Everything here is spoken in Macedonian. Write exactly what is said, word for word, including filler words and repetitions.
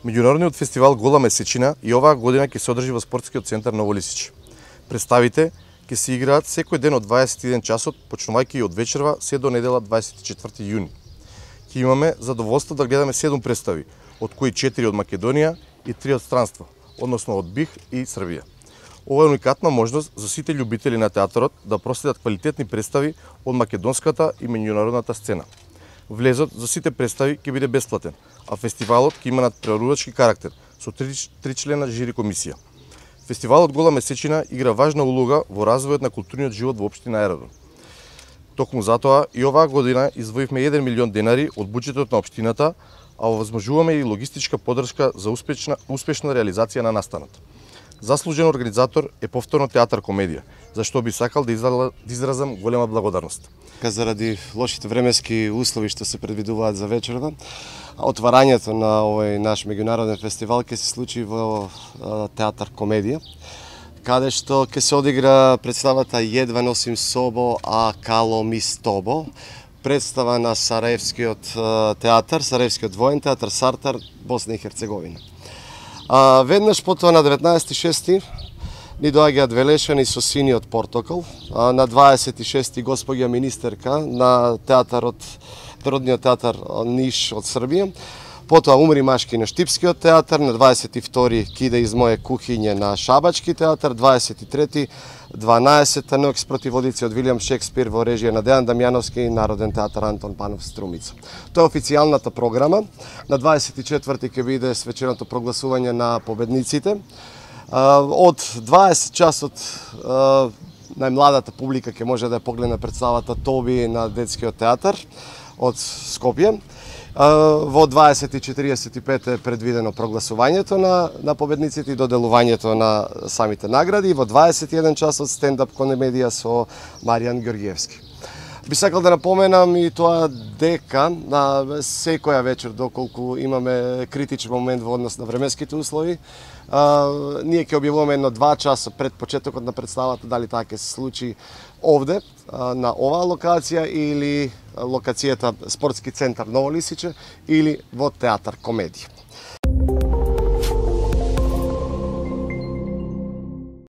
Меѓународниот фестивал Гола месечина и оваа година ќе се одржи во спортскиот центар Ново Лисиче. Представите ќе се играат секој ден од дваесет и еден часот, почнувајќи од вечерва се до недела дваесет и четврти јуни. Ќе имаме задоволство да гледаме седум представи, од кои четири од Македонија и три од странство, односно од БиХ и Србија. Ова е уникатна можност за сите љубители на театарот да проследат квалитетни представи од македонската и меѓународната сцена. Влезот за сите представи ќе биде бесплатен, а фестивалот ќе има надпреварувачки карактер со тричлена жири комисија. Фестивалот Гола месечина игра важна улога во развојот на културниот живот во општина Ероден. Токму затоа и оваа година издвоивме еден милион денари од буџетот на општината, а овозможуваме и логистичка поддршка за успешна успешна реализација на настанот. Заслужен организатор е повторно театар комедија, за што би сакал да изразам голема благодарност. Заради лошите временски услови што се предвидуваат за вечерва, отварањето на овој наш меѓународен фестивал ќе се случи во театар комедија, каде што ќе се одигра представата Едва носим собо, а кало ми с тобо, представа на Сараевскиот театар, Сараевскиот воен театар Сартар, Босна и Херцеговина. А, веднаш потоа на деветнаесети шести ни доаѓаат Велешани со Синиот портокал, а, на дваесет и шести господја министерка на театарот, Народниот театар Ниш од Србија, потоа Умри машки на Штипскиот театар, на дваесет и втори Киде из моје кухиње на Шабачки театар, дваесет и трети дванаесета Ноќ спротив водици од Вилијам Шекспир во режија на Дејан Дамјановски и Народен театар Антон Панов Струмица. Тоа е официјалната програма. На дваесет и четврти ќе биде свеченото прогласување на победниците. Од дваесет часот најмладата публика ќе може да ја погледне представата Тоби на детскиот театар од Скопје. Во дваесет и четиридесет и пет е предвидено прогласувањето на, на победниците и доделувањето на самите награди. Во дваесет и еден часот стендап комедија со Маријан Ѓорѓиевски. Би сакал да напоменам и тоа дека на секоја вечер, доколку имаме критичен момент во однос на временските услови, а, ние ќе објавуваме едно два часа пред почетокот на представата дали таа ќе се случи овде, а, на оваа локација или локацијата Спортски центар Ново Лисиче или во театар комедија.